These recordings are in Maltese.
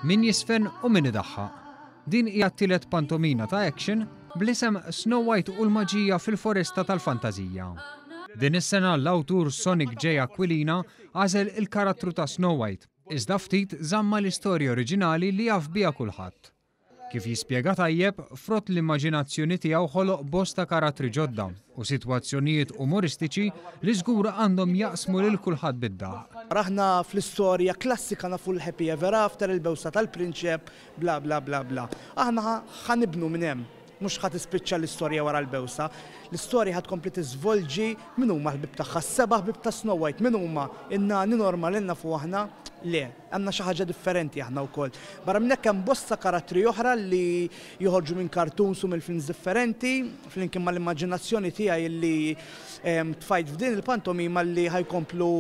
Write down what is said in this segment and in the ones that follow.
Min jiżfen u min idaħħaq. Din hija t-tielet pantomina ta' action bl-isem Snow White u l-Maġija fil-Foresta tal-Fantażija. Din is-sena l-awtur Sonic J. Aquilina għażel il-karattru ta' Snow White, iżda ftit żamm mal-istorja oriġinali li jaf biha kulħadd. Kif jispjega tajjeb, frott l-immaġinazzjoni tiegħu ħoloq bosta karattri ġodda u sitwazzjonijiet umoristiċi li żgur għandhom jaqsmu lil kulħadd bid-daħq. Aħna fl-istorja klassika nafu l-happy ever after, il-bewsa tal-prinċep, bla bla bla bla. Aħna ħa nibnu minn hemm. Mhux ħa tispiċċa l-istorja wara l-bewsa. L-istorja ħa tkompli tiżvolġi min huma l-ħbieb tagħha, s-seba' ħbieb ta' Snow White, min huma? In-nani normali li nafu aħna? Le, għandna xi ħaġa differenti aħna wkoll. Barra minn hekk hemm bosta karattri oħra li joħorġu minn cartoons u mill-films differenti, flimkien mal-immaġinazzjoni tiegħi li tfajt f'din il-pantomima li ħa jkomplu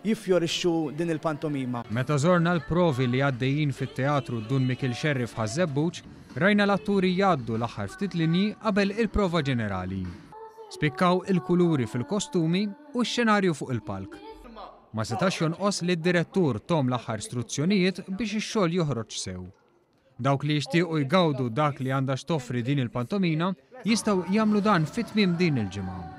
jiffjorixxu din il-pantomima. Meta żorna l-provi li għaddejjin fit-Teatru Dun Mikiel Xerri f'Ħaż-Żebbuġ, rajna l-atturi jgħaddu l-aħħar ftit linji qabel il-prova ġenerali. Spikkaw il-kuluri fil-kostumi u x-xenarju fuq il-palk. Ma setax jonqos li d-direttur thom l-aħħar struzzjonijiet biex ix-xogħol joħroġ sew. Dawk li jixtiequ jgawdu dak li għandha x'toffri din il-pantomina jistgħu jagħmlu dan fi tmiem din il-ġimgħa.